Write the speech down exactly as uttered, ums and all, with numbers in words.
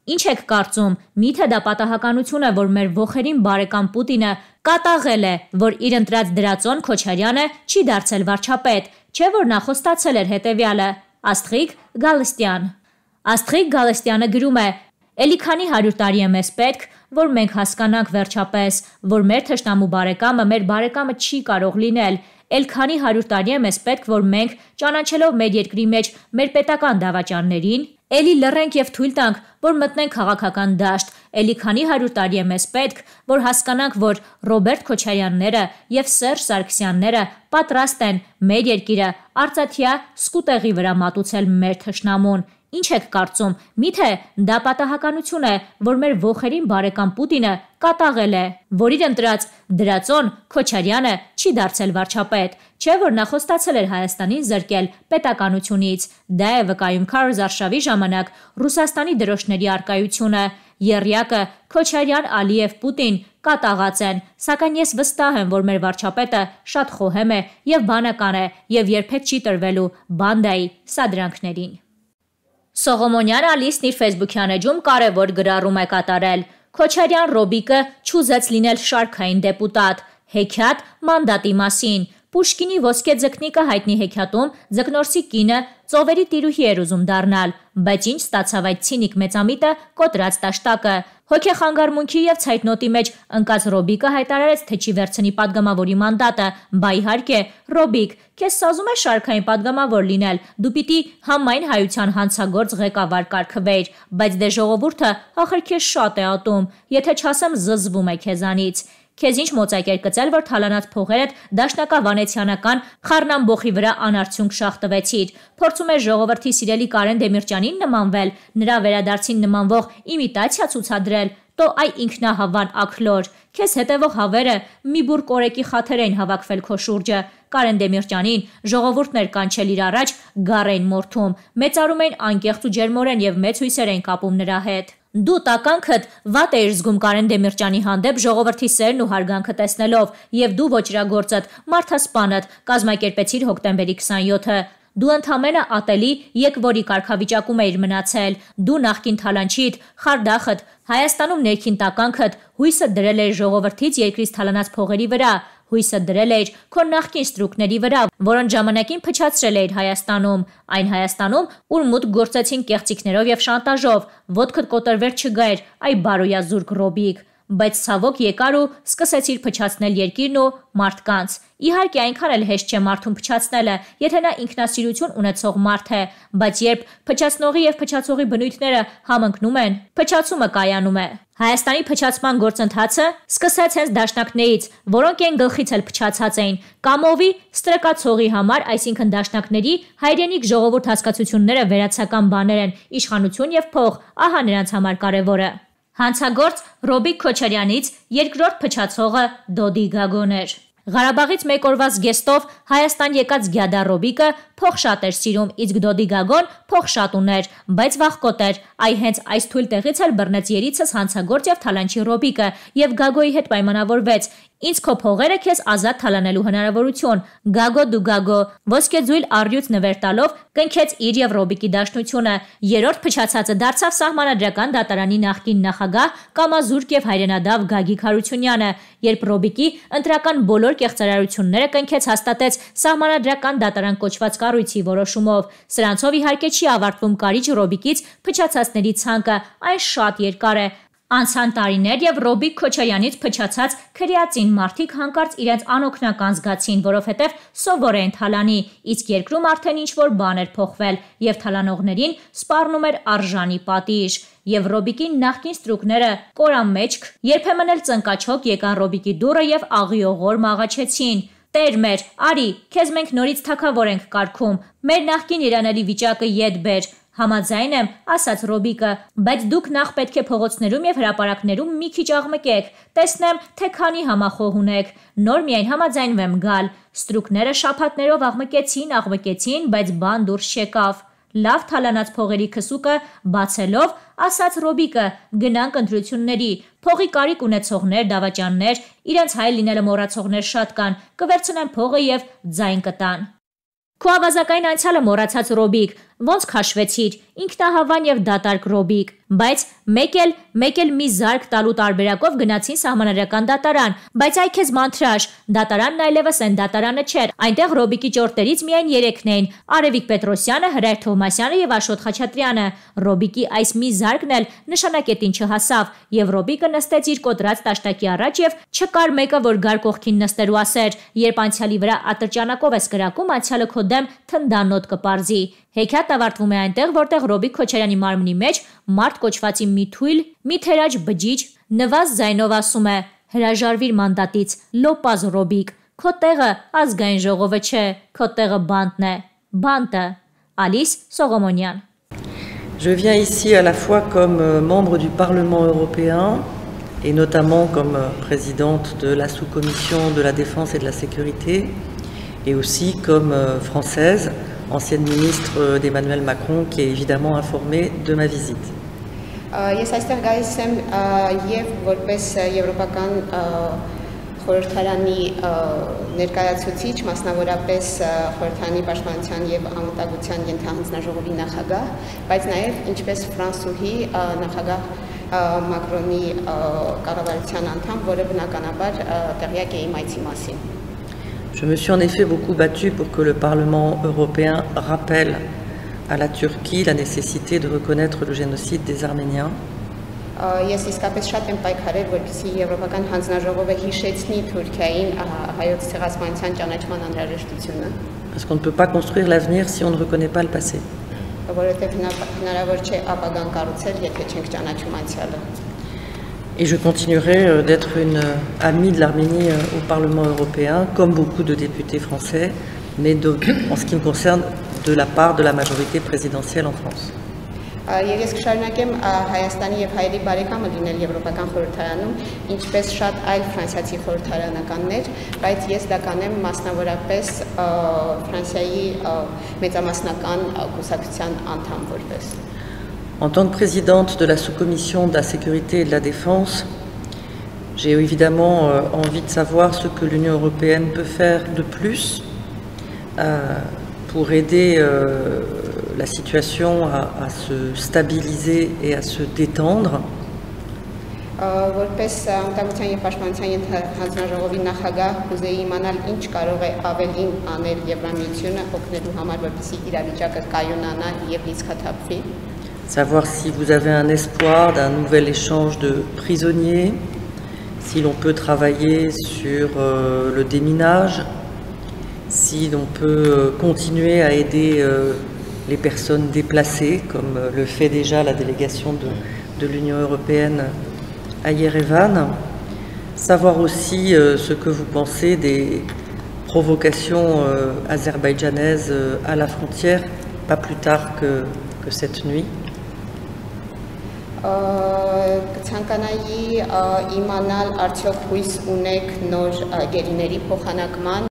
Ինչ եք կարծում, միթե դա պատահականություն է, որ մեր ոխերին բարեկամ Պուտինը կատաղել է, որ իր ընտրած դրածոն Քոչարյանը չի դարձել վարչապետ, չէ՞ որ նա խոստացել էր հետևյալը։ Աստղիկ Գալստյան Աստղիկ Գալստյանը գրում է. «Էլի քանի հարյուր տարի է մեզ պետք, որ մենք հասկանանք վերջապես, որ մեր թշնամու բարեկամը մեր բարեկամը չի կարող լինել։ Էլ քանի հարյուր տարի է մեզ պետք, որ մենք, ճանաչելով մեր երկրի մեջ մեր պետական դավաճաններին, էլի լռենք և թույլ տանք, որ մտնենք քաղաքական դաշտ։ Էլի քանի հարյուր տարի է մեզ պետք, որ հասկանանք, որ Ռոբերտ Քոչարյանները և Սերժ Սարգսյանները պատրաստ են մեր երկիրը արծաթյա սկուտեղի վրա մատուցել մեր թշնամուն։ Ինչ եք կարծում, միթե դա պատահականություն է, որ մեր ոխերին բարեկամ Պուտինը կատաղել է, որ իր ընտրած դրածոն Քոչարյանը չի դարձել վարչապետ, չէ՞ որ նա խոստացել էր Հայաստանին զրկել պետականությունից։ Դա է վկայում Քարոզ Արշավի ժամանակ Ռուսաստանի դրոշների առկայությունը։ Եռյակը Քոչարյան, Ալիև, Պուտին կատաղած են, սակայն ես վստահ եմ, որ մեր վարչապետը շատ խոհեմ է և բանական է և երբեք չի տրվելու բանդայի սադրանքներին»։ Սողոմոնյան Ալիսն իր ֆեյսբուքյան էջում կարևոր գրառում է կատարել. «Քոչարյան Ռոբիկը չուզեց լինել շարքային դեպուտատ, հեքիաթ մանդատի մասին։ Պուշկինի ոսկե ձկնիկը հայտնի հեքիաթում ձկնորսի կինը ծովերի տիրուհի էր ուզում դառնալ, բայց ինչ ստացավ այդ ցինիկ մեծամիտը կոտրած տաշտակը։ Հոգեխանգարմունքի և ցայտնոտի մեջ ընկած Ռոբիկը հայտարարեց, թե չի վերցնի падգամավորի մանդատը, բա իհարկե, Ռոբիկ, քեզ սազում է շարքային падգամավոր լինել, դու պիտի համայն հայության հանցագործ ղեկավար կարգվեիր, բայց դե ժողովուրդը ախր քեզ շատ է ատում, եթե չասեմ զզվում է քեզանից։ Քեզ ինչ մոծակ էր կծել, որ թալանած փողերդ դաշնակավանեցյանական խառնամբոխի վրա անարդյունք շաղ տվեցիր։ Փորձում ես ժողովրդի սիրելի Կարեն Դեմիրճյանին նմանվել, նրա վերադարձին նմանվող իմիտացիա ցուցադրել, տո այ ինքնահավան աքլոր։ Քեզ հետևող հավերը մի բուռ կորեկի խաթեր էին հավաքվել քո շուրջը։ Կարեն Դեմիրճյանին ժողովուրդն էր կանչել իր առաջ գառ էին մորթում, մեծարում էին անկեղծ ու ջերմորեն և մեծ հույսեր էին կապում նրա հետ։ Դու տականքդ վատ էիր զգում Կարեն Դեմիրճյանի հանդեպ ժողովրդի սերն ու հարգանքը տեսնելով, և դու ոճրագործդ, մարդասպանդ կազմակերպեցիր հոկտեմբերի քսանյոթը։ Դու ընդամենը ատելի եկվորի կարգավիճակում էիր մնացել։ Դու նախկին թալանչիդ, խարդախդ, Հայաստանում ներքին տականքդ հույսը դրել էիր ժողովրդից երկրից թալանած փողերի վրա, հույսը դրել էիր քո նախկին ստրուկների վրա, որոնց ժամանակին փչացրել էիր Հայաստանում, այն Հայաստանում, ուր մուտք գործեցին կեղծիքներով և շանտաժով, ոտքդ կոտրվեր չգայր, այ բարոյազուրկ Ռոբիկ։ Բայց ցավոք եկար ու սկսեցիր փչացնել երկիրն ու մարդկանց։ Իհարկե այնքան էլ հեշտ չէ մարդուն փչացնելը, եթե նա ինքնասիրություն ունեցող մարդ է, բայց երբ փչացնողի և փչացողի բնույթները համընկնում են, փչացումը կայանում է։ Հայաստանի փչացման գործընթացը սկսեց հենց դաշնակներից, որոնք այն գլխից էլ փչացած էին։ Կամովի ստրկացողի համար, այսինքն դաշնակների, հայրենիք ժողովուրդ հասկացությունները վերացական բաներ են, իշխանություն և փող, ահա նրանց համար կարևորը։ Հանցագործ Ռոբիկ Քոչարյանից երկրորդ փչացողը Դոդի Գագոն էր։ Ղարաբաղից մեկ օրվա զգեստով Հայաստան եկած Գյադա Ռոբիկը փող շատ էր սիրում, իսկ Դոդի Գագոն փող շատ ուներ, բայց վախկոտ էր։ Այ հենց այս թույլ տեղից էլ բռնեց երիցս հանցագործ և թալանչի Ռոբիկը և Գագոյի հետ պայմանավորվեց. «Ինձ քո փողերը քեզ ազատ թալանելու հնարավորություն»։ Գագո դու Գագո ոսկեձույլ առյուծ նվեր տալով կնքեց իր և Ռոբիկի դաշնությունը։ Երրորդ փչացածը դարձավ Սահմանադրական դատարանի նախկին նախագահ, կամազուրկ և հայրենադավ Գագիկ Հարությունյանը, երբ Ռոբիկի ընտրական բոլոր կեղծարարությունները կնքեց հաստատեց Սահմանադրական դատարան կոչված կառույցի որոշումով։ Սրանցով իհարկե չի ավարտվում կարիճ Ռոբիկից փչացածների ցանկը, այն շատ երկար է։ Անցան տարիներ և Ռոբիկ Քոչարյանից փչացած քրեածին մարդիկ հանկարծ իրենց անօգնական զգացին, որովհետև սովոր էին թալանի, իսկ երկրում արդեն ինչ-որ բան էր փոխվել և թալանողներին սպառնում էր արժանի պատիժ։ Եվ Ռոբիկի նախկին ստրուկները կորամեջք, երբեմն էլ ծնկաչոք եկան Ռոբիկի դուռը և աղիողորմ աղաչեցին. «Տեր մեր, արի, քեզ մենք նորից թագավոր ենք կարգում, մեր նախկին երանելի վիճակը ետ բեր»։ Համաձայն եմ, ասաց Ռոբիկը, բայց դուք նախ պետք է փողոցներում և հրապարակներում մի քիչ աղմկեք, տեսնեմ, թե քանի համախոհ ունեք, նոր միայն համաձայնվեմ գալ։ Ստրուկները շաբաթներով աղմկեցին, աղմկեցին, բայց բան դուրս չեկավ։ Լավ թալանած փողերի քսուկը բացելով, ասաց Ռոբիկը, գնանք ընտրությունների, փողի կարիք ունեցողներ, դավաճաններ, իրենց հայ լինելը մոռացողներ շատ կան, կվերցնեն փողը և ձայն կտան։ Քո ավազակային անցյալը մոռացած Ռոբիկ, Ոնց քաշվեցիր, ինքնահավան եւ դատարկ Ռոբիկ, բայց մեկ էլ մեկ էլ մի զարկ տալու տարբերակով գնացին սահմանադրական դատարան, բայց այ քեզ մանթրաշ, դատարանն այլևս այն դատարանը չէր, այնտեղ Ռոբիկի ճորտերից միայն երեքն էին՝ Արևիկ Պետրոսյանը, Հրայր Թովմասյանը եւ Աշոտ Խաչատրյանը։ Ռոբիկի այս մի զարկն էլ նշանակետին չհասավ, եւ Ռոբիկը նստեց իր կոտրած տաշտակի առաջ եւ չկար մեկը, որ գար կողքին նստելու ասեր, երբ անցյալի վրա ատրճանակով ես կրակում, անցյալը քո դեմ թնդանոտ կպարզի։ Հեքիաթն ավարտվում է այնտեղ, որտեղ Ռոբիկ Քոչարյանի մարմնի մեջ մարդ կոչվածի մի թույլ, մի թերաջ բջիջ նվազ ձայնով ասում է. հրաժարվիր մանդատից, լոպազ Ռոբիկ, քո տեղը ազգային ժողովը չէ, քո տեղը բանտն է, բանտը։ Ալիս Սողոմոնյան։ Je viens ici à la fois comme membre du Parlement européen et notamment comme présidente de la sous-commission de la défense et de la sécurité et aussi comme française, ancienne ministre d'Emmanuel Macron, qui est évidemment informée de ma visite. Ես այստեղ գալիս եմ եւ որպես եվրոպական խորհրդարանի ներկայացուցիչ, մասնավորապես խորհրդարանի պաշտպանության եւ անվտանգության ենթահանձնաժողովի նախագահ, բայց նաեւ ինչպես ֆրանսուհի նախագահ Մակրոնի կառավարության անդամ, որը բնականաբար տեղյակ է իմ այցի մասին։ Je me suis en effet beaucoup battue pour que le Parlement européen rappelle à la Turquie la nécessité de reconnaître le génocide des Arméniens. Ես իսկապես շատ եմ պայքարել, որպեսզի Եվրոպական հանձնաժողովը հիշեցնի Թուրքիային հայոց ցեղասպանության ճանաչման անհրաժեշտությունը։ Parce qu'on ne peut pas construire l'avenir si on ne reconnaît pas le passé. Որովհետև հնարավոր չէ ապագան կառուցել, եթե չենք ճանաչում անցյալը։ Et je continuerai d'être une amie de l'Arménie au Parlement européen, comme beaucoup de députés français, mais de, en ce qui me concerne, de la part de la majorité présidentielle en France. Ես կշարունակեմ Հայաստանի եւ հայերի բարեկամը լինել Եվրոպական խորհրդարանում, ինչպես շատ այլ ֆրանսիացի խորհրդարանականներ, բայց ես դա կանեմ մասնավորապես Ֆրանսիայի մեծամասնական կուսակցության անդամ որպես։ En tant que présidente de la sous-commission de la sécurité et de la défense, j'ai évidemment envie de savoir ce que l'Union européenne peut faire de plus pour aider la situation à, à se stabiliser et à se détendre. Որպես անվտանգության եւ պաշտպանության հանձնաժողովի նախագահ կուզեի իմանալ ինչ կարող է ավելին անել Եվրամիությունը օգնելու համար, որպեսզի իրավիճակը կայունանա եւ լիցքաթափվի։ Savoir si vous avez un espoir d'un nouvel échange de prisonniers, si l'on peut travailler sur euh, le déminage, si l'on peut euh, continuer à aider euh, les personnes déplacées, comme euh, le fait déjà la délégation de, de l'Union européenne à Yerevan. Savoir aussi euh, ce que vous pensez des provocations euh, azerbaïdjanaises euh, à la frontière, pas plus tard que, que cette nuit. Կցանկանայի իմանալ արդյոք հույս ունեք նոր գերիների փոխանակման